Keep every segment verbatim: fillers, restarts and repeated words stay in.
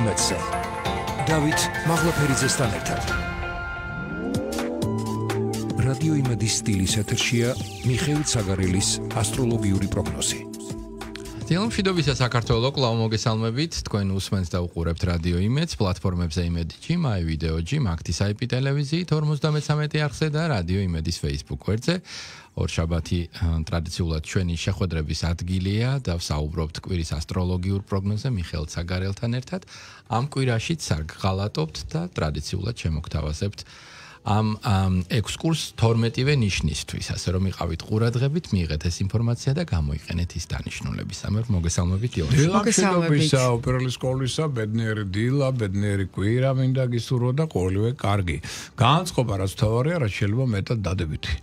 იმედზე. დავით მაღლაფერიძესთან ერთად. რადიო იმედის სტილის ეთერშია მიხეილ ცაგარელის ასტროლოგიური პროგნოზი. დილომშვიდობისა საქართველო, კлау მოგესალმებით. თქვენ უსმენთ და უყურებთ რადიო იმედს, პლატფორმებზე იმედიჯი, მაი ვიდეოჯი, მაგთის აი პი ტელევიზიით ორმოცდამეცამეტი არხზე და რადიო იმედის Facebook გვერდზე. ორშაბათი ტრადიციულად ჩვენი შეხვედრების ადგილია და ვსაუბრობთ კვირის ასტროლოგიურ პროგნოზზე მიხეილ ცაგარელთან ერთად. ამ კვირაშიც სარგღალატობთ და ტრადიციულად შემოგთავაზებთ ამ ექსკურს თორმეტივე ნიშნისთვის, ასე რომ იყავით ყურადღებით, მიიღეთ ეს ინფორმაცია და გამოიყენეთ ის დანიშნულები. სამერ მოგესალმებით დილა. მოგესალმებით. უპირელი სკოლისა, ბედნიერი დილა, ბედნიერი კვირა მინდა გისურვო და ყოველივე კარგი. განწყობა რაც თავარია, რაც შეიძლება მეტად დადებითი.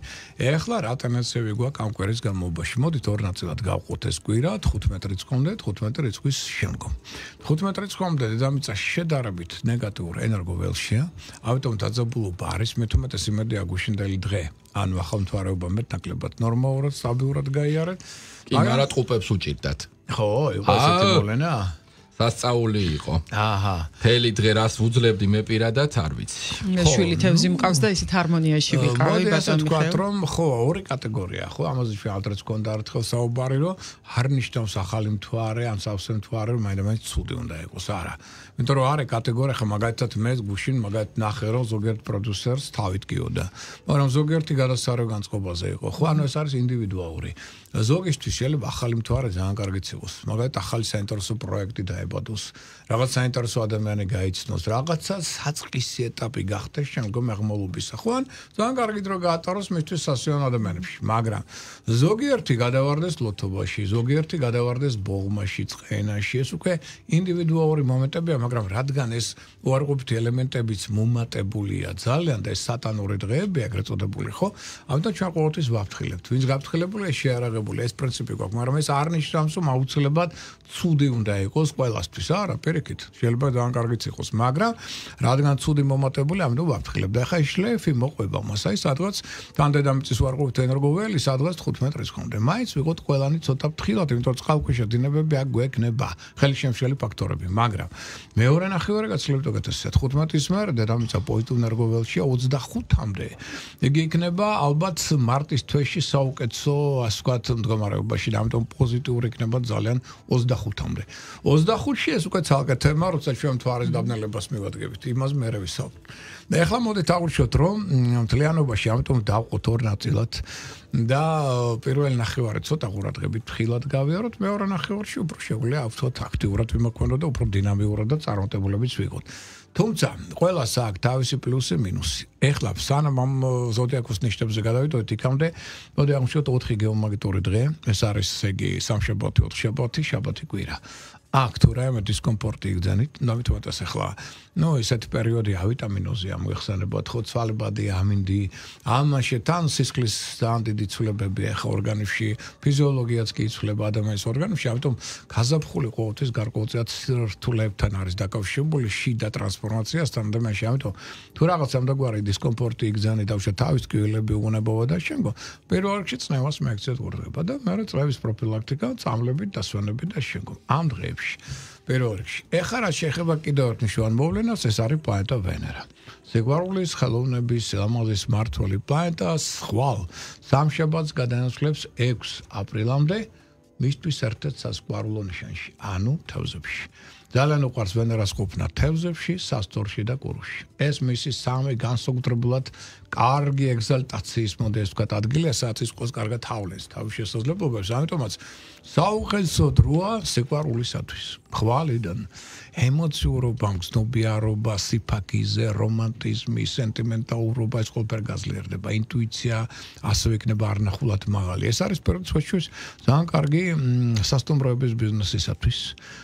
ეხლა რა ტენდენციები გვაქვს ამ კვირის განმავლობაში? მოდით ორ ნაწილად გავყოთ ეს კვირა, თხუთმეტი რიცხვამდე, თხუთმეტი რიცხვის შემდგომ. თხუთმეტი რიცხვამდე დედამიწა შედარებით ნეგატიურ ენერგო ველშია, ამიტომ დაძაბულობა არის მეთუმეტეს იმედია გუშინდელი დღე, ანუ ახალმთვარეობა მეტნაკლებად ნორმალურად, სტაბილურად გაიარეთ. კი, მაგრამ ტყუპებს უჭირდათ. ხო, იყო ესეთი მოვლენა? სასწაული იყო. აჰა. მთელი დღე რას ვუძლებდი მე პირადად არ ვიცი. შვილი თევზი მყავს და ისეთ ჰარმონიაში ვიყავი ბატონო მიხეილ. რომ ხო, ორი კატეგორია, ხო, ამაზე შეავდრეთ კონდა ერთხელ საუბარი, რომ არ ნიშნავს ახალი მთვარე, ან სავსე მთვარე, რომ მაინც ცუდი უნდა იყოს, არა. იმიტომ რომ არის კატეგორია, ხა მაგალითად მე გუშინ მაგალითად ნახე რომ ზოგიერთ პროდიუსერს თავით გიოდა. მაგრამ ზოგიერთი გადასარევ განწყობაზე იყო. ხო, ანუ ეს არის ინდივიდუალური. ზოგისთვის შეიძლება ახალი მთვარე ძალიან კარგიც იყოს. მაგალითად ახალი საინტერესო პროექტი დაებადოს, რაღაც საინტერესო ადამიანი გაიცნოს, რაღაცა საწყისი ეტაპი გახდეს შემდგომ აღმავლობისა. ხო, ან ძალიან კარგი დრო გაატაროს მისთვის სასიამოვნო ადამიანებში, მაგრამ ზოგიერთი გადავარდეს ლოთობაში, ზოგიერთი გადავარდეს ბოღმაში, წყენაში, ეს უკვე ინდივიდუალური მომენტებია, მაგრამ რადგან ეს უარყოფითი ელემენტებიც მომატებულია ძალიან და ეს სატანური დღეები ეგრეთ წოდებული, ხო? ამიტომ ჩვენ ყოველთვის ვაფრთხილებთ. ვინც გაფრთხილებულია, შეარაღებული, ეს პრინციპი გვაქვს, მაგრამ ეს არ ნიშნავს, რომ აუცილებლად ცუდი უნდა იყოს ყველასთვის. არა, პირიქით, შეიძლება ძალიან კარგიც იყოს, მაგრამ რადგან ცუდი მომატებული, ამიტომ ვაფრთხილებთ. ახლა ის შლეფი მოყვება მას, აი სადღაც დედამიწის უარყოფითი ენერგოველი, სადღაც თხუთმეტი რიცხვამდე. მაინც ვიყოთ ყველანი ცოტა ფრთხილად, იმიტომ რომ წყალქვეშა დინებები აქ გვექნება, ხელშემშლელი ფაქტორები, მაგრამ მეორე ნახევარი გაცილებით უკეთესია. თხუთმეტის მერე დედამიწა პოზიტიურ ენერგოველშია ოცდახუთამდე. იგი იქნება ალბათ მარტის თვეში საუკეთესო, ასე ვთქვათ, მდგომარეობაში და ამიტომ პოზიტიური იქნება ძალიან ოცდახუთამდე. ოცდახუთში ეს უკვე ცალკე თემა, როცა ჩვენ მთვარის დაბნელებას მივადგენთ, იმას მერე ვისაუბრებთ. და ეხლა მოდით აღვნიშნოთ, რომ მთლიანობაში ამიტომ დავყოთ ორ ნაწილად და პირველი ნახევარი ცოტა ყურადღებით ფრთხილად გავიაროთ, მეორე ნახევარში უფრო შეგვიძლია ავთოთ აქტიურად ვიმოქმედოთ და უფრო დინამიურად და წარმატებულებიც ვიყოთ. თუმცა ყველას აქვს თავისი პლუსი, მინუსი. ეხლა სანამ ამ ზოდიაქოს ნიშნებზე გადავიდოდეთ იქამდე, მოდი აღვნიშნოთ ოთხი გეომაგნიტური დღე, ეს არის ესე იგი სამშაბათი, ოთხშაბათი, შაბათი, კვირა. აქ თუ რაიმე დისკომფორტი იგზანით, ნავითოთ ეს ახლა, ნუ ესეთი პერიოდი ავიტამინოზია მოიხსენებათ, ხო, ცვალებადი ამინდი, ამაში თან სისხლის ძალიან დიდი ცვლილებები ახლა ორგანიზმში, ფიზიოლოგიაც კი იცვლება ადამიანის ორგანიზმში, ამიტომ გაზაფხული ყოველთვის გარკვეულწილად სირთულეებთან არის დაკავშირებული შიდა ტრანსფორმაციასთან ადამიანში, ამიტომ თუ რაღაც ამდაგვარი დისკომფორტი იგზანით, დავშა თავის ტკივილები უღუნებობა და შემდგომ პირველ რიგში წნევას მიაქციეთ ყურადღება და მეორე წლების პროფილაქტიკა, წამლებით, დასვენებით და შემდგომ ამ დღეებში პირველ რიგში. ეხლა რა შეეხება კიდევ ერთ მნიშვნელოვან მოვლენას, ეს არის პლანეტა ვენერა. სიყვარულის, ხელოვნების, სილამაზის მმართველი პლანეტა ხვალ სამშაბათს გადაინაცვლებს ექვსი აპრილამდე მისთვის ერთ-ერთ სასიყვარულო ნიშანში, ანუ თევზებში. ძალიან უყვარს ვენერას ყოფნა თევზებში, სასწორში და კურუში. ეს მისი სამი განსაკუთრებულად კარგი ეგზალტაციის მოდი ეს ვთქვათ ადგილია, სადაც ის ყოს კარგად თავლეს თავის შესაძლებლობებს, ამიტომაც საუკეთესო დროა სიყვარულისათვის. ხვალიდან ემოციურობა, გრძნობიარობა, სიფაქიზე, რომანტიზმი, სენტიმენტალურობა ეს ყველაფერი გაძლიერდება, ინტუიცია ასევე იქნება არნახულად მაღალი. ეს არის პერიოდში ძალიან კარგი სასტუმროების ბიზნესისათვის.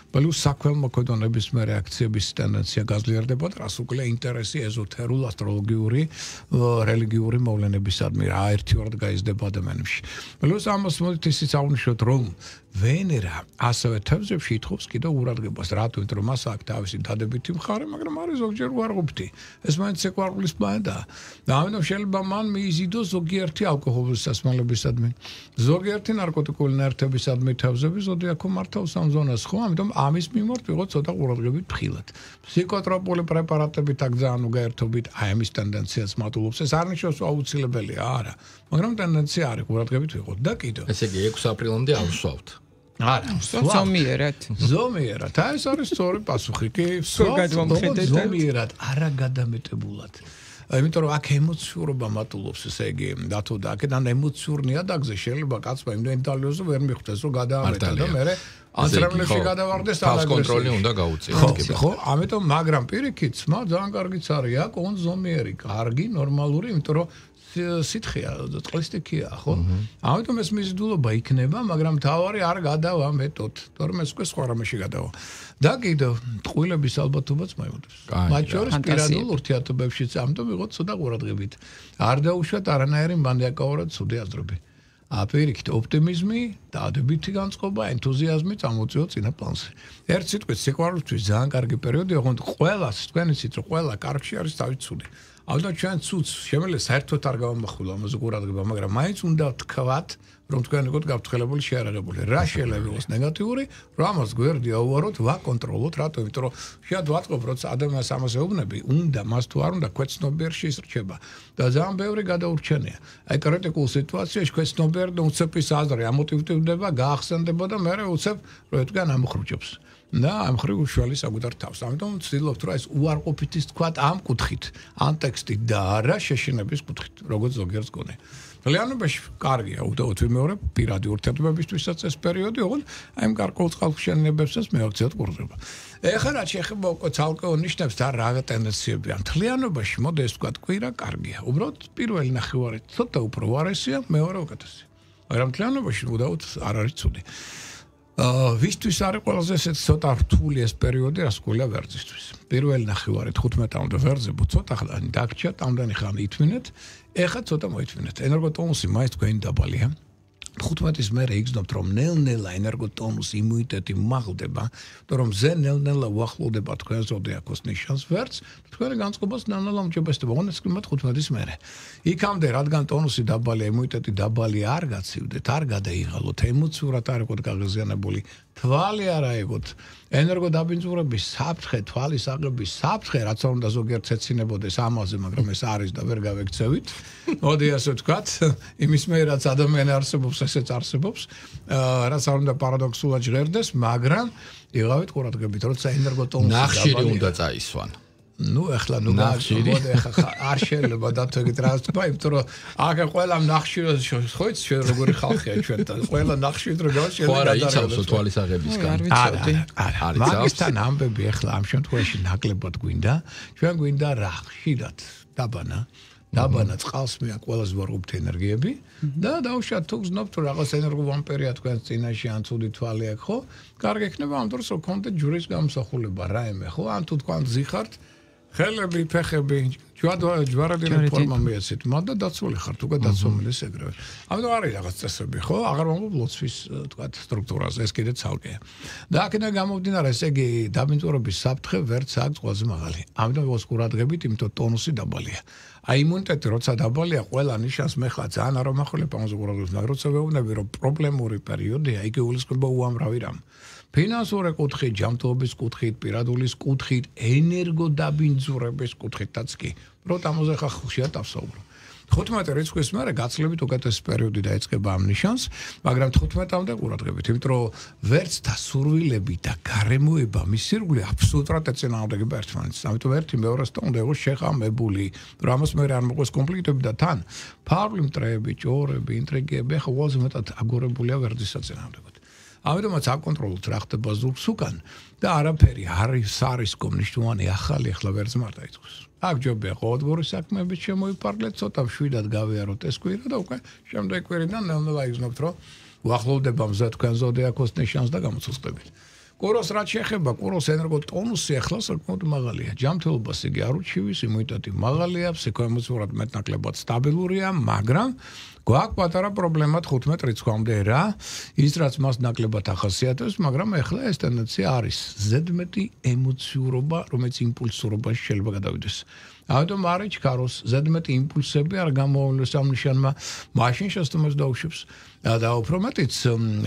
პლუს საქველმოქმედონების მე რეაქციების ტენდენცია გაძლიერდება და რას უკლია ინტერესი ეზოთერულ ასტროლოგიური რელიგიური მოვლენებისადმი რა ერთიორად გაიზრდება ადამიანებში. პლუს ამას მოდით ისიც აღვნიშნოთ, რომ ვენერა ასევე თევზებში ითხოვს კიდევ ყურადღებას, რატომ იმიტომ რომ მას აქვს თავისი დადებითი მხარე, მაგრამ არის ზოგჯერ უარყოფითი. ეს მაინც სიყვარულის პლანეტაა. და ამიტომ შეიძლება მან მიიზიდოს ზოგიერთი ალკოჰოლის სასმელებისადმი, ზოგიერთი ნარკოტიკული ნივთებისადმი თევზები ზოდიაქო მართავს ამ ზონას, ხო? ამიტომ ამის მიმართ ვიღოთ ცოტა ყურადღებით ფრთხილად. ფსიქოტროპული პრეპარატებით აქ ძალიან უგაერთობით აი ამის ტენდენციას მატულობს. ეს არ ნიშნავს აუცილებელია, არა, მაგრამ ტენდენცია არის ყურადღებით ვიღოთ და კიდევ. ესე იგი ექვსი აპრილამდე ავსვავთ. არა, ზომიერად. ზომიერად. აი ეს არის სწორი პასუხი. კი, ზომიერად, არა გადამეტებულად. იმიტომ რომ აქ ემოციურობა მატულობს, ესე იგი, დათო და აქედან ემოციურ ნიადაგზე შეიძლება კაცმა იმდენ დალიოზო ვერ მიხვდეს, რომ გადაამეტა და მე ანტრემლებში გადავარდეს და კონტროლი უნდა გაუწიოს. ხო, ამიტომ მაგრამ პირიქით, სმა ძალიან კარგიც არის, აქ on ზომიერი, კარგი, ნორმალური, იმიტომ რომ სითხეა, წყლისტიქია, ხო? ამიტომ ეს მიზიდულობა იქნება, მაგრამ თავარი არ გადავამეტოთ, თორემ ეს უკვე სხვა რამეში გადავა. და კიდევ ტყუილების ალბათობაც მაიმოდებს. მათ შორის პირადულ ურთიერთობებშიც ამიტომ ვიღოთ ცოტა ყურადღებით. არ დაუშვათ არანაირი მანდიაკაურად ცუდი აზრები. აპირიქით ოპტიმიზმი, დადებითი განწყობა, ენთუზიაზმი წამოწიო წინა პლანზე. ერთ სიტყვით სიყვარულისთვის ძალიან კარგი პერიოდი, ოღონდ ყველას თქვენ იცით, რომ ყველა კარგში არის თავის ცუდი. ალბათ ჩვენ ცუდს შემიძლია საერთოდ არ გავამახვილო ამაზე ყურადღება, მაგრამ მაინც უნდა თქვათ, რომ თქვენ იყოთ გაფრთხილებული, შეარაღებული. რა შეიძლება იყოს ნეგატიური, რომ ამას გვერდი აუვაროთ, ვაკონტროლოთ, რატო? იმიტომ რომ შეიძლება ვაწყობ, რომ ადამიანს ამას ეუბნები, უნდა მას თუ არ უნდა ქვეცნობიერ შეისრჩება და ძალიან ბევრი გადაურჩენია. აი კრიტიკულ სიტუაციაში ქვეცნობიერ და უცეპის აზრი ამოტივდება, გაახსენდება და მე უცებ რომ თქვენ ამხრუჭებს. და ამ ხრივ უშუალი საკუთარ თავს. ამიტომ ვცდილობთ, რომ ეს უარყოფითის თქვათ ამ კუთხით, ამ ტექსტით და არა შეშინების კუთხით, როგორც ზოგიერთს გონე. realობაში კარგია, უდაოდ ვიმეორებ პირადი ურთიერთობებისთვისაც ეს პერიოდი, ოღონდ აი ამ გარკვეულ წყალხსენებებსაც მეაქციოთ ყურადღება. ეხლა რაც შეეხება უკვე ცალკეულ ნიშნებს და რა ტენდენციებია. realობაში მოდი ეს თქვათ კვირა კარგია. უბრალოდ პირველი ნახევარი ცოტა უფრო ვარესია, მეორე უკეთესი. მაგრამ realობაში უდაოდ არ არის ცუდი. ვისთვის არის ყველაზე ესეც ცოტა რთული ეს პერიოდი რასკულა ვერძისთვის. პირველი ნახევარი თხუთმეტამდე ვერძებო ცოტა ხანი დაგჭა, ამდენი ხანი ითმინეთ, ეხლა ცოტა მოითმინეთ. ენერგოტონუსი მაინც თქვენი დაბალია. თხუთმეტის მერე იგრძნობთ, რომ ნელ-ნელა ენერგოტონუსი, იმუნიტეტი მაღლდება, და რომ ზე ნელ-ნელა უახლოვდება თქვენ ზოდიაქოს ნიშანს ვერც, თქვენი განწყობას ნელ-ნელა უმჯობესდება, ოღონდ ეს კლიმატ თხუთმეტის მერე. იქამდე, რადგან ტონუსი დაბალია, იმუნიტეტი დაბალი არ გაცივდეთ, არ გადაიღალოთ, ემოციურად არ იყოთ გაღიზიანებული, თვალი არ აიღოთ, ენერგოდაბინძურების საფრთხე, თვალის აღების საფრთხე, რაც არ უნდა ზოგიერთ ეცინებოდეს ამაზე, მაგრამ ეს არის და ვერ გავექცევით. მოდი ასე ვთქვათ, იმის მე რაც ადამიანი არსებობს, ესეც არსებობს, რაც არ უნდა პარადოქსულად ჟღერდეს, მაგრამ იღავით ყურადღებით, როცა ენერგოტონუსი ნახშირი უნდა წაისვან. ნუ ეხლა ნუ მოდი ეხლა არ შეიძლება დათვეგეთ რა თქვა, იმიტომ რომ აქ ყველა ნახშირს ხო იცი ჩვენ როგორი ხალხია ჩვენ და ყველა ნახშირს რო გავშენე და იცავსო თვალის აღებისგან. არა, არა. მაგისთან ამბები ეხლა ამ შემთხვევაში ნაკლებად გვინდა, ჩვენ გვინდა რა ხშირად დაბანა დაბანა წყალს მე ყველაზე ვარყოფთ ენერგიები და დავუშვათ თუ გზნობთ რომ რაღაც ენერგოვამპერია თქვენ წინაშე ან ცუდი თვალი აქვს ხო? კარგი ექნება ამ დროს რომ კონტენტ ჯურის გამოსახულება რაიმე ხო? ან თუ თქვენ ზიხართ ხელები, ფეხები, ჯვარადინი ფორმა მიეცით, მაგრამ დაცული ხართ, უკვე დაცომილი ეგრევე. ამიტომ არის რაღაც წესები, ხო? აღარ ვამბობ ლოცვის, თქვათ, სტრუქტურაზე, ეს კიდე ცალკეა. და აქედან გამომდინარე, ესე იგი, დაბინძურების საფრთხე ვერც აქვს ყველაზე მაღალი. ამიტომ ვიყოს ყურადღებით, იმიტომ ტონუსი დაბალია. აი იმუნიტეტი როცა დაბალია, ყველა ნიშანს მე ხა ძალიან არ ვამახვილებ ამაზე ყურადღებას, მაგრამ როცა ვეუბნები, რომ პრობლემური პერიოდია, იგი გულისხმობა უამრავი რამ. ფინანსური კუთხით, ჯანმრთელობის კუთხით, პირადულის კუთხით, ენერგოდაბინძურების კუთხითაც კი. უბრალოდ ამაზე ხა ხშირად ავსაუბრო. თხუთმეტი რიცხვის მერე გაცლებით უკეთესი პერიოდი დაიწყება ამ ნიშანს, მაგრამ თხუთმეტამდე ყურადღებით, იმიტომ რომ ვერც დასურვილები და გარემოება მისირგული აბსოლუტურად ეწინააღმდეგება ერთმანეთს. ამიტომ ერთი მეორესთან უნდა იყოს შეხამებული, რომ ამას მერე არ მოყვეს კონფლიქტები და თან ფარული მტრეები, ჭორები, ინტრიგები, ახლა ყველაზე მეტად აგორებულია ვერძის საწინააღმდეგოდ. ამიტომაც აკონტროლოთ რა ხდება ზურგს უკან და არაფერი არის სარისკო მნიშვნელოვანი ახალი ახლა ვერც მარტო იწვევს. აქ ჯობია ყოველდღიური საქმეებით შემოიფარგლეთ, ცოტა მშვიდად გავიაროთ ეს კვირა და უკვე შემდეგ კვირიდან ნელ-ნელა იგრძნობთ, რომ უახლოვდება მზე თქვენ ზოდიაქოს ნიშანს და გამოცოცხლებით. კუროს რაც შეეხება კუროს ენერგოტონუსი ახლა საკმაოდ მაღალია. ჯანმრთელობას იგი არ უჩივის, იმუნიტეტი მაღალია, ფსიქოემოციურად მეტნაკლებად სტაბილურია, მაგრამ გვაქვს პატარა პრობლემა თხუთმეტ რიცხვამდე რა, ის რაც მას ნაკლებად ახასიათებს, მაგრამ ახლა ეს ტენდენცია არის ზედმეტი ემოციურობა, რომელიც იმპულსურობაში შეიძლება გადავიდეს. ამიტომ არ იჩქაროს ზედმეტი იმპულსები არ გამოავლეს ამ ნიშანმა, მაშინ შესაბამისად დაუშვებს და უფრო მეტიც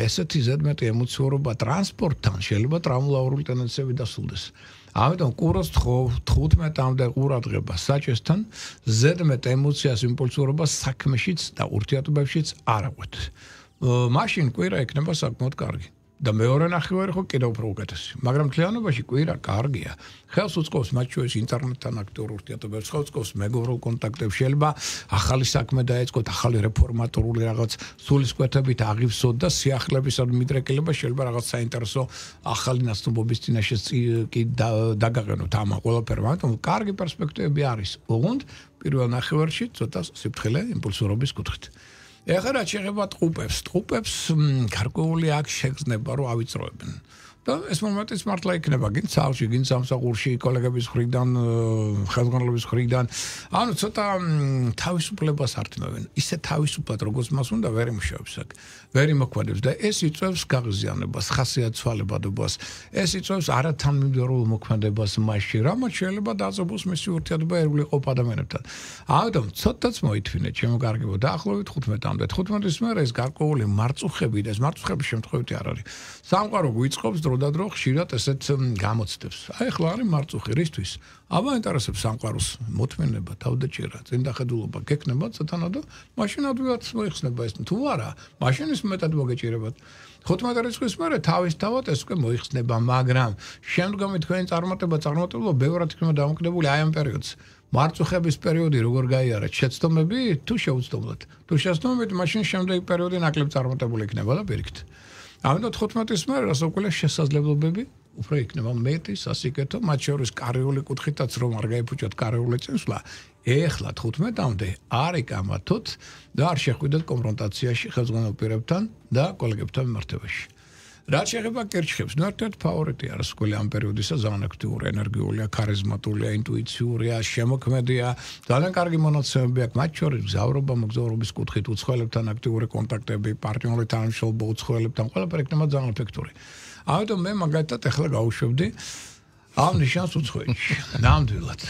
ესეთი ზედმეტი ემოციურობა ტრანსპორტთან შეიძლება ტრავმატული ტენდენციები დასრულდეს. ამიტომ კუროს თხუთმეტამდე ყურადღება საჭესთან ზედმეტ ემოციას იმპულსურობას საქმეშიც და ურთიერთობებშიც არ აღვეთ. მაშინ კვირა ექნება საკმაოდ კარგი. და მეორე ნახევარი ხო კიდევ უფრო უკეთესი. მაგრამ მთლიანობაში კვირა კარგია. ხელს უწყობს მათ შორის ინტერნეტთან აქტიურ ურთიერთობებს, ხელს უწყობს მეგობრულ კონტაქტებს, შეიძლება ახალი საქმე დაეწყოთ, ახალი რეფორმატორული რაღაც სულისკვეთებით აღივსოთ და სიახლეებისა და მიდრეკილება შეიძლება რაღაც საინტერესო ახალი ნაცნობობის წინაშე კი დაგაყენოთ ამ ყველაფერს. ამიტომ კარგი პერსპექტივები არის. ოღონდ პირველ ნახევარში ცოტა სიფრთხილე იმპულსურობის კუთხით. ეხლა რაც შეეხება ტყუპებს, ტყუპებს გარკვეული აქ შეგრძნება რომ ავიწროებენ. და ეს მომენტიც მართლა იქნება გინ ცალში, გინ სამსახურში, კოლეგების მხრიდან, ხელმძღვანელობის მხრიდან. ანუ ცოტა თავისუფლებას ართმევენ. ისე თავისუფლად როგორც მას უნდა ვერ იმუშავებს აქ. ვერ იმოქმედებს და ეს იწვევს გაღიზიანებას, ხასიათცვალებადობას. ეს იწვევს არათანმიმდევრულ მოქმედებას მასში, რამაც შეიძლება დაძაბოს მისი ურთიერთობა ეროვნული ყოფ ადამიანებთან. ამიტომ ცოტაც მოითვინეთ, ჩემო კარგებო, დაახლოებით თხუთმეტამდე. თხუთმეტის მერე ეს გარკვეული მარწუხები და ეს მარწუხების შემთხვევით არ არის. სამყარო გვიწყობს დროდადრო ხშირად ესეთ გამოცდებს. აი ახლა არის მარწუხი რისთვის? აბა ინტერესებს სამყაროს მოთმინება, თავდაჭერა, წინდახედულობა გექნება ცოტანა და მაშინ ადვილად მოიხსნება ეს თუ არა, მაშინ ის მეტად მოგეჭირებათ. თხუთმეტ რიცხვის მერე თავისთავად ეს უკვე მოიხსნება, მაგრამ შემდგომი თქვენი წარმატება, წარმატებულობა ბევრად იქნება დამოკიდებული აი ამ პერიოდს. მარწუხების პერიოდი როგორ გაიარეთ, შეცდომები თუ შეუცდომლად. თუ შეცდომებით, მაშინ შემდეგი პერიოდი ნაკლებ წარმატებული იქნება და პირიქით. ამიტომ თხუთმეტის მერე რასაკვირველია შესაძლებლობები უფრო იქნება მეტი სასიკეთო, მათ შორის კარიული კუთხითაც რომ არ გაიფუჭოთ კარიული წინსვლა, ეხლა თხუთმეტამდე არ იკამათოთ და არ შეხვიდეთ კონფრონტაციაში ხელმძღვანელ პირებთან და კოლეგებთან მიმართებაში. რაც შეეხება კერჩხებს, ნუ ერთ-ერთი ფავორიტია რასაკვირველია ამ პერიოდისა, ძალიან აქტიური, ენერგიულია, ქარიზმატულია, ინტუიციურია, შემოქმედია, ძალიან კარგი მონაცემები აქვს, მათ შორის გზავრობა, მოგზაურობის კუთხით, უცხოელებთან აქტიური კონტაქტები, პარტნიორული თანამშრომლობა უცხოელებთან, ყველაფერი იქნება ძალიან ეფექტური. ამიტომ მე მაგალითად ახლა გავუშვებდი ამ ნიშანს უცხოეთში. ნამდვილად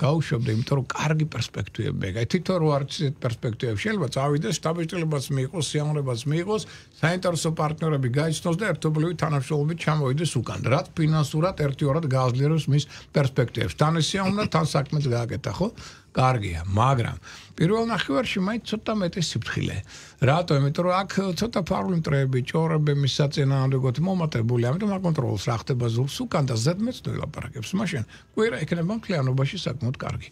გავუშვებდი, იმიტომ რომ კარგი პერსპექტივები აქვს. თითო რო არის პერსპექტივები, შეიძლება წავიდეს, სტაბილურობას მიიღოს, სიამოვნებას მიიღოს, საინტერესო პარტნიორები გაიცნოს და ერთობლივი თანამშრომლობით ჩამოვიდეს უკან. რაც ფინანსურად ერთიორად გააძლიერებს მის პერსპექტივებს. თან ეს სიამოვნა, თან საქმეც გააკეთა, ხო? კარგია, მაგრამ პირველ ნახევარში მაინც ცოტა მეტი სიფრთხილე. რატო? იმიტომ რომ აქ ცოტა ფარული მტრეები, ჭორები მის საწინააღმდეგოდ მომატებული, ამიტომ აკონტროლოს რა ხდება ზურგს უკან და ზედმეტ ვილაპარაკებს. მაშინ კვირა იქნება მთლიანობაში საკმაოდ კარგი.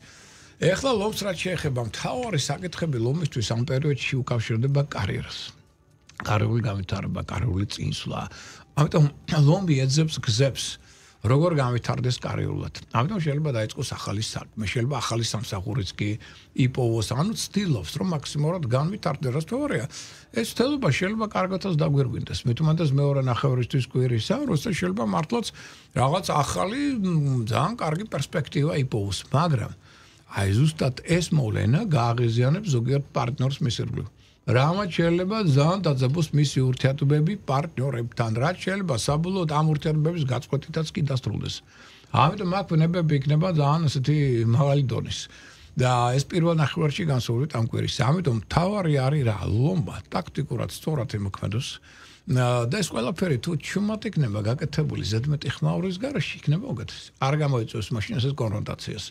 ეხლა ლომს რაც შეეხება მთავარი საკითხები ლომისთვის ამ პერიოდში უკავშირდება კარიერას. კარიერული განვითარება, კარიერული წინსვლა. ამიტომ ლომი ეძებს გზებს. როგორ განვითარდეს კარიერულად. ამიტომ შეიძლება დაიწყოს ახალი საქმე, შეიძლება ახალი სამსახურიც კი იპოვოს, ანუ ცდილობს, რომ მაქსიმალურად განვითარდეს, რაც თორეა. ეს ცდილობა შეიძლება კარგადაც დაგვირგვინდეს. მით უმეტეს მეორე ნახევრისთვის კვირისა, როცა შეიძლება მართლაც რაღაც ახალი ძალიან კარგი პერსპექტივა იპოვოს, მაგრამ აი ზუსტად ეს მოვლენა გააღიზიანებს ზოგიერთ პარტნიორს მისირგვლივ. რამაც შეიძლება ძალიან დაძაბოს მისი ურთიერთობები პარტნიორებთან, რაც შეიძლება საბოლოოდ ამ ურთიერთობების გაწყვეტითაც კი დასრულდეს. ამიტომ აქ ვნებები იქნება ძალიან ასეთი მაღალი დონის. და ეს პირველ ნახევარში განსაკუთრებით ამ კვირის. ამიტომ თავარი არის რა, ლომბა ტაქტიკურად სწორად იმოქმედოს. და ეს ყველაფერი თუ ჩუმად იქნება გაკეთებული ზედმეტი ხმაურის გარეშე იქნება უკეთესი. არ გამოიწვევს მაშინ ესეთ კონფრონტაციას.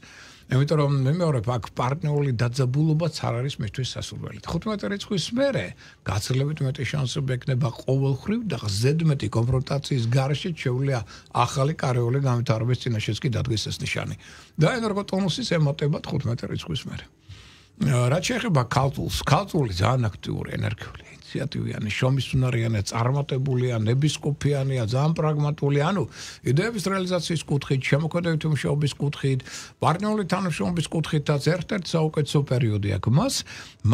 იმიტომ რომ მე მეორე აქ პარტნიორული დაძაბულობაც არ არის მისთვის სასურველი. თხუთმეტ რიცხვის მერე გაცილებით მეტი შანსები ექნება ყოველხრივ და ზედმეტი კონფრონტაციის გარეშე შეუძლია ახალი კარიერული განვითარების წინაშეც კი დადგეს ეს ნიშანი. და ენერგოტონუსის ემატება თხუთმეტ რიცხვის მერე. რაც შეეხება ქალწულს, ქალწული ძალიან აქტიური, ენერგიული, ინიციატივიანი, შრომისუნარიანი, წარმატებულია, ნებისყოფიანია, ძალიან პრაგმატული, ანუ იდეების რეალიზაციის კუთხით, შემოქმედებითი მუშაობის კუთხით, პარტნიორული თანამშრომლობის კუთხითაც ერთ-ერთი საუკეთესო პერიოდი აქვს მას,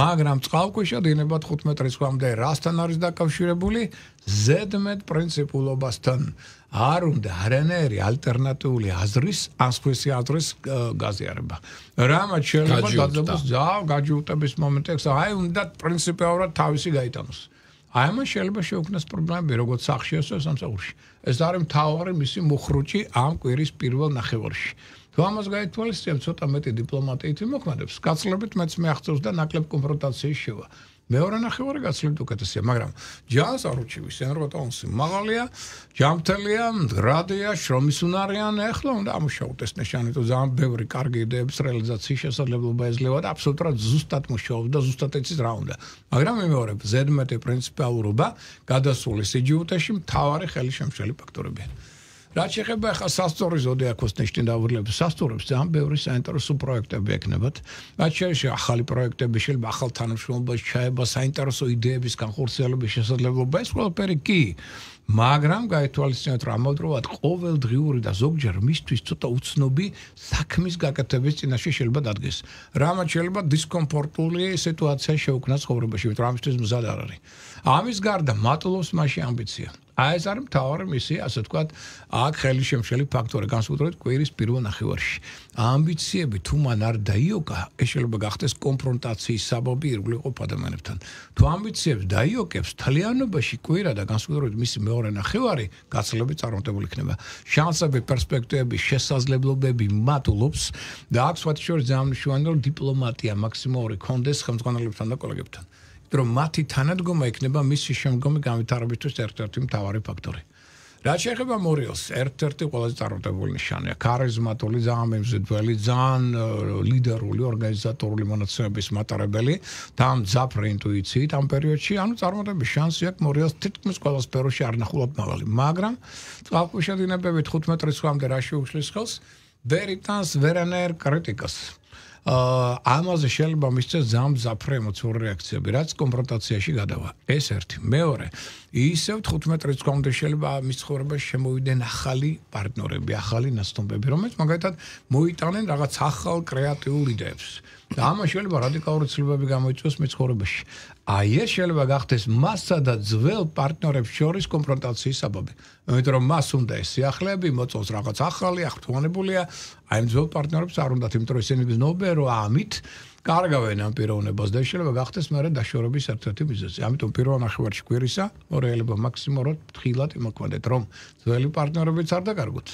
მაგრამ წყალქვეშა დინებად თხუთმეტ რიცხვამდე რასთან არის დაკავშირებული? ზედმეტ პრინციპულობასთან. არ უნდა არანაირი ალტერნატიული აზრის, ან სხვისი აზრის გაზიარება. რამაც შეიძლება დაძაბოს ძალ გაჯიუტების მომენტი აქვს, აი უნდა პრინციპიალურად თავისი გაიტანოს. აი მას შეიძლება შეუქმნას პრობლემები, როგორც სახში, ასევე სამსახურში. ეს არის მთავარი მისი მუხრუჭი ამ კვირის პირველ ნახევარში. თუ ამას გაითვალისწინებთ, ცოტა მეტი დიპლომატიით მოქმედებს, გაცილებით მეც მეახცევს და ნაკლებ კონფრონტაციის შევა. მეორე ნახევარი გაცილებით უკეთესია, მაგრამ ჯანს არ უჩივის, ენერგოტონსი მაღალია, ჯანმრთელია, მდგრადია, შრომისუნარიან, ეხლა უნდა ამუშაოთ ეს ნიშანი, თუ ძალიან ბევრი კარგი იდეების რეალიზაციის შესაძლებლობა ეძლევა და აბსოლუტურად ზუსტად მუშაობს და ზუსტად იცის რა უნდა. მაგრამ მიმეორებ, ზედმეტი პრინციპიალურობა გადასული სიჯიუტეში მთავარი ხელშემშელი ფაქტორებია. რაც შეეხება ახლა სასწორი ზოდიაქოს ნიშნით დავრილებს სასწორებს ძალიან ბევრი საინტერესო პროექტები ექნებათ. რაც შეეხება ახალი პროექტები, შეიძლება ახალ თანამშრომლობას ჩაება, საინტერესო იდეების განხორციელების შესაძლებლობა, ეს ყველაფერი კი. მაგრამ გაითვალისწინოთ რომ ამავდროულად ყოველდღიური და ზოგჯერ მისთვის ცოტა უცნობი საქმის გაკეთების წინაშე შეიძლება დადგეს. რამაც შეიძლება დისკომფორტული სიტუაცია შეუქმნას ცხოვრებაში, იმიტომ რომ ამისთვის მზად არ არის. ამის გარდა მატლობს მასში ამბიცია. აი ეს არის მთავარი მისია, ასე ვთქვათ, აქ ხელშემშელი ფაქტორი, განსაკუთრებით კვირის პირველ ნახევარში. ამბიციები თუ მან არ დაიოკა, ეს შეიძლება გახდეს კონფრონტაციის საბაბი ირგვლივ ადამიანებთან. თუ ამბიციებს დაიოკებს, თლიანობაში კვირა და განსაკუთრებით მისი მეორე ნახევარი გაცილებით წარმატებული იქნება. შანსები, პერსპექტივები, შესაძლებლობები მატულობს და აქ სხვათა შორის ძალიან მნიშვნელოვანია, რომ დიპლომატია მაქსიმალური კონდეს ხელმძღვანელებთან და კოლეგებთან. რომ მათი თანადგომა იქნება მისი შემდგომი განვითარებისთვის ერთ-ერთი მთავარი ფაქტორი. რაც შეეხება მორიელს, ერთ-ერთი ყველაზე წარმატებული ნიშანია, ქარიზმატული, ძალიან მემზიდველი, ძალიან ლიდერული, ორგანიზატორული მონაცემების მატარებელი და მძაფრი ინტუიციით ამ პერიოდში, ანუ წარმატების შანსი აქვს მორიელს თითქმის ყველა სფეროში არ ნახულობ მაღალი, მაგრამ წყალქვეშა დინებები თხუთმეტ რიცხვამდე რა შეუშლის ხელს, ვერ იტანს ვერანაირ კრიტიკას. ამაზე შეიძლება მისცეს ძალიან მძაფრი ემოციური რეაქციები, რაც კონფრონტაციაში გადავა. ეს ერთი. მეორე, ისევ თხუთმეტ რიცხვამდე შეიძლება მის ცხოვრებაში შემოვიდნენ ახალი პარტნიორები, ახალი ნაცნობები, რომელიც მაგალითად მოიტანენ რაღაც ახალ კრეატიულ იდეებს. და ამას შეიძლება რადიკალური ცვლილებები გამოიწვიოს მის ცხოვრებაში. აი ეს შეიძლება გახდეს მასსა და ძველ პარტნიორებს შორის კონფრონტაციის საბაბი. იმიტომ რომ მას უნდა ეს სიახლეები, მოწონს რაღაც ახალი, აღფრთოვანებულია, აი ამ ძველ პარტნიორებს არ უნდათ, იმიტომ რომ ისინი გრძნობენ, რომ ამით კარგავენ ამ პიროვნებას და შეიძლება გახდეს მერე დაშორების ერთ-ერთი მიზეზი. ამიტომ პირველ ნახევარში კვირისა მორიელება მაქსიმალურად ფრთხილად იმოქმედეთ, რომ ძველი პარტნიორებიც არ დაკარგოთ.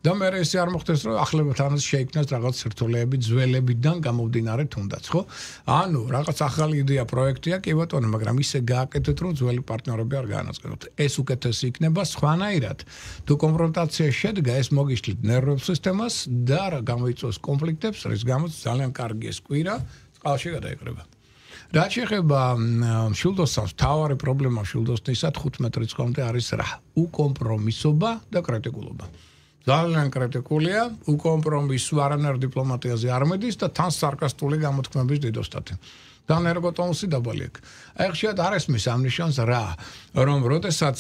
და მე ესე არ მოხდეს რომ ახლებთანაც შეიქმნას რაღაც სირთულეები ძველებიდან გამომდინარე თუნდაც, ხო? ანუ რაღაც ახალი იდეა პროექტია, კი ბატონო, მაგრამ ისე გააკეთეთ რომ ძველი პარტნიორები არ გაანაწილოთ. ეს უკეთესი იქნება სხვანაირად. თუ კონფრონტაცია შედგა, ეს მოგიშლით ნერვულ სისტემას და გამოიწვევს კონფლიქტებს, რის გამოც ძალიან კარგი ეს კვირა წყალში გადაიკრება. რაც შეეხება მშვილდოსნებს, მთავარი პრობლემა მშვილდოსნისა თხუთმეტ რიცხვამდე არის რა? უკომპრომისობა და კრიტიკულობა. ძალიან კრიტიკულია, უკომპრომისო არანაირ დიპლომატიაზე არ მედის და თან სარკასტული გამოთქმების დიდოსტატი. და ენერგოტონუსი დაბალი აქვს. აი ხშირად არ ესმის ამ ნიშანს რა, რომ როდესაც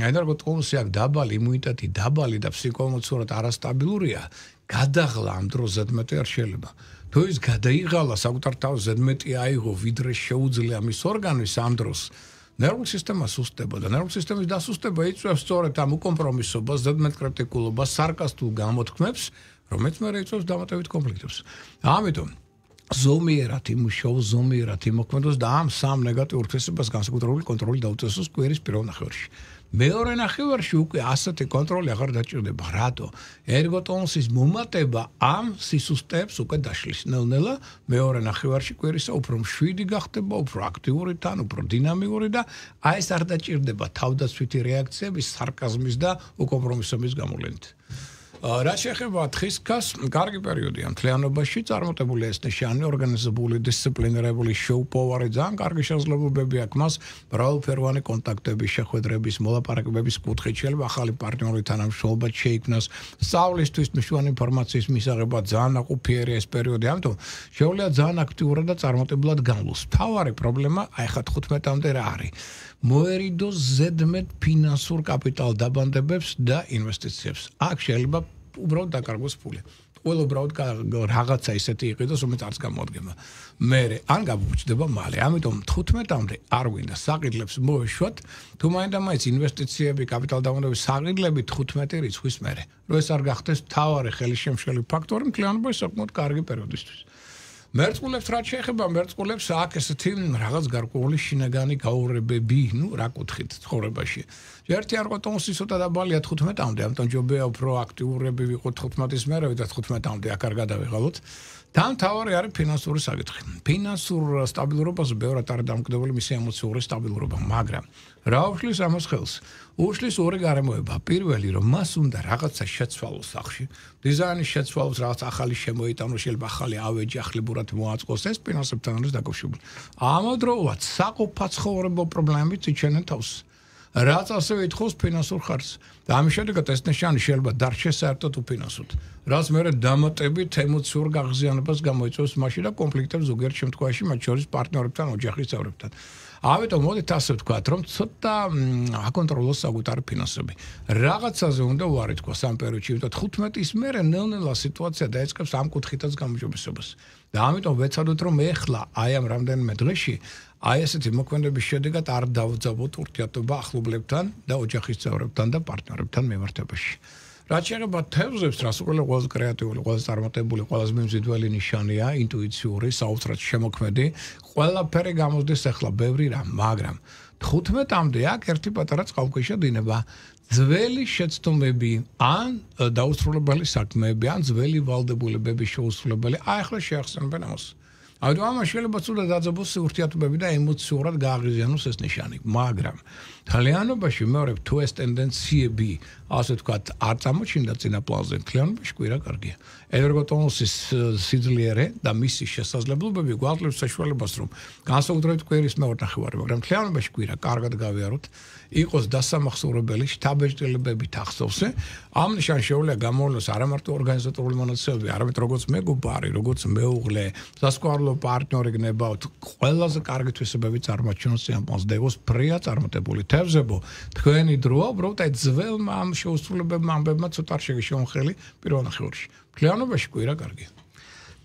ენერგოტონუსი აქვს დაბალი, იმუნიტეტი დაბალი და ფსიქოემოციურად არასტაბილურია, გადაღლა ამ დროს ზედმეტი არ შეიძლება. თუ ის გადაიღალა საკუთარ თავს ზედმეტი აიღო, ვიდრე შეუძლია მის ორგანიზმს ამ დროს ნერვულ სისტემას სუსტება და ნერვულ სისტემის დასუსტება იწვევს სწორედ ამ უკომპრომისობას, ზედმეტ კრიტიკულობას, სარკასტულ გამოთქმებს, რომელიც მე იწვევს დამატებით კონფლიქტებს. ამიტომ ზომიერად იმუშაოს, ზომიერად იმოქმედოს და ამ სამ ნეგატიურ თვისებას განსაკუთრებული კონტროლი დაუწესოს კვირის პირველ ნახევარში. მეორე ნახევარში უკვე ასეთი კონტროლი აღარ დაჭირდება. რატო? ერგოტონუსის მომატება ამ სისუსტეებს უკვე დაშლის. ნელ-ნელა მეორე ნახევარში კვირისა უფრო მშვიდი გახდება, უფრო აქტიური თან, უფრო დინამიური და აი ეს არ დაჭირდება თავდაცვითი რეაქციების, სარკაზმის და უკომპრომისობის გამოვლენით. რა შეეხება თხისქას, კარგი პერიოდია მთლიანობაში, წარმატებული ეს ნიშანი, ორგანიზებული, დისციპლინირებული შოუ-პოვარი, ძალიან კარგი შესაძლებლობები აქვს მას, მრავალფეროვანი კონტაქტების, შეხვედრების, მოლაპარაკებების კუთხით შეიძლება ახალი პარტნიორი თანამშრომლობა შეიქმნას, სწავლისთვის მნიშვნელოვანი ინფორმაციის მისაღებად ძალიან ნაყოფიერია ეს პერიოდი, ამიტომ შეუძლია ძალიან აქტიურად და წარმატებულად განვლოს. მთავარი პრობლემა აი ხა თხუთმეტამდე რა არის? მოერიდოს ზედმეტ ფინანსურ კაპიტალ დაბანდებებს და ინვესტიციებს. აქ შეიძლება უბრალოდ დაკარგოს ფული. ყველა უბრალოდ რაღაცა ისეთი იყიდოს, რომელიც არც გამოადგება. მერე ან გამოვჭდება მალე. ამიტომ თხუთმეტამდე არ გვინდა საყიდლებს მოეშვათ, თუ მაინდა-მაინც ინვესტიციები, კაპიტალ დაბანდებების საყიდლები თხუთმეტი რიცხვის მერე. რო ეს არ გახდეს მთავარი ხელისშემშელი ფაქტორი მთლიანობაში საკმაოდ კარგი პერიოდისთვის. მერწყულებს რა შეეხება მერწყულებს აქ ესეთი რაღაც გარკვეული შინაგანი გაურებები, ну, რა კუთხით ცხოვრებაში. ერთი არ ყოტონსი ცოტა დაბალია თხუთმეტამდე, ამიტომ ჯობია უფრო აქტიურები ვიყოთ თხუთმეტის მერე და თხუთმეტამდე აქ არ გადავიღალოთ. თან თავარი არის ფინანსური საკითხი. ფინანსურ სტაბილურობაზე ბევრად არის დამოკიდებული მისი ემოციური სტაბილურობა, მაგრამ რა უშლის ამას ხელს? უშლის ორი გარემოება. პირველი, რომ მას უნდა რაღაცა შეცვალოს სახში, დიზაინის შეცვალოს, რაღაც ახალი შემოიტანოს, შეიძლება ახალი ავეჯი ახლებურად მოაწყოს, ეს ფინანსებთან არის დაკავშირებული. ამავდროულად საყოფაცხოვრებო პრობლემებით იჩენენ თავს. რაც ასევე ითხოვს ფინანსურ ხარჯს. და ამის შედეგად ეს ნიშანი შეიძლება დარჩეს საერთოდ უფინანსოდ. რაც მერე დამატებით ემოციურ გაღიზიანებას გამოიწვევს მასში და კონფლიქტებს ზოგიერთ შემთხვევაში მათ შორის პარტნიორებთან, ოჯახის წევრებთან. ამიტომ მოდით ასე ვთქვათ, რომ ცოტა აკონტროლოს საკუთარი ფინანსები. რაღაცაზე უნდა უარი თქვას ამ პერიოდში, იმიტომ თხუთმეტის მერე ნელ-ნელა სიტუაცია დაიწყებს ამ კუთხითაც გამოჯობესებას. და ამიტომ ვეცადოთ, რომ ეხლა აი ამ რამდენიმე დღეში აი ესეთი მოქმედების შედეგად არ დავძაბოთ ურთიერთობა ახლობლებთან და ოჯახის წევრებთან და პარტნიორებთან მიმართებაში. რაც შეეხება თევზებს, რას უყურე ყველაზე კრეატიული, ყველაზე წარმატებული, ყველაზე მიმზიდველი ნიშანია, ინტუიციური, საოცრად შემოქმედი, ყველაფერი გამოსდეს ახლა ბევრი რამ, მაგრამ თხუთმეტამდე აქ ერთი პატარა წყალქვეშა დინება. ძველი შეცდომები ან დაუსრულებელი საქმეები, ან ძველი ვალდებულებების შეუსრულებელი, აი ახლა შეახსენებენ ამას. ამიტომ ამას შეიძლება ცუდად დაძაბოს ურთიერთობები და ემოციურად გააღიზიანოს ეს ნიშანი, მაგრამ თლიანობაში მეორე თუ ეს ტენდენციები, ასე ვთქვათ, არ წამოჩნდა წინა პლანზე, თლიანობაში კვირა კარგია. ენერგოტონუსის სიძლიერე და მისი შესაძლებლობები გვაძლევს საშუალებას, რომ განსაკუთრებით კვირის მეორე ნახევარი, მაგრამ თლიანობაში კვირა კარგად გავიაროთ, იყოს დასამახსოვრებელი შთაბეჭდილებებით ახსოვსე, ამ ნიშანს შეუძლია გამოვლოს არა მარტო ორგანიზატორული მონაცემები, არამედ როგორც მეგობარი, როგორც მეუღლე, სასკვარლო პარტნიორი გნებავთ, ყველაზე კარგი თვისებები წარმოაჩინოს ამ პლანს და იყოს ფრია წარმატებული. თევზებო, თქვენი დროა, უბრალოდ აი ძველმა ამ შეუსრულებებმა ამბებმა ცოტა არ შეგეშეონ ხელი პირველ ნახევარში. თლიანობაში კვირა კარგია.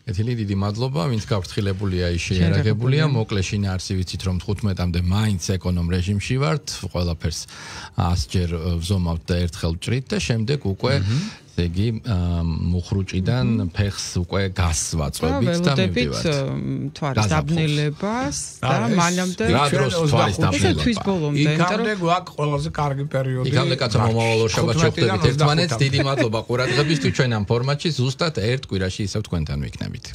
ეთილი დიდი მადლობა, ვინც გავრცელებულია, ის შეიარაღებულია, მოკლე შინაარსი ვიცით, რომ თხუთმეტამდე მაინც ეკონომ რეჟიმში ვართ, ყველაფერს ასჯერ ვზომავთ და ერთხელ ვჭრით და შემდეგ უკვე ესე იგი მუხრუჭიდან ფეხს უკვე გასვაწვებით და მივდივართ. თვარის დაბნელებას და მანამდე რა დროს თვარის დაბნელება. თვის ბოლომდე, იქამდე გვაქვს ყველაზე კარგი პერიოდი. იქამდე კაცო მომავალ შაბათს შეხვდებით ერთმანეთს. დიდი მადლობა ყურადღებისთვის. ჩვენ ამ ფორმატში ზუსტად ერთ კვირაში ისევ თქვენთან ვიქნებით.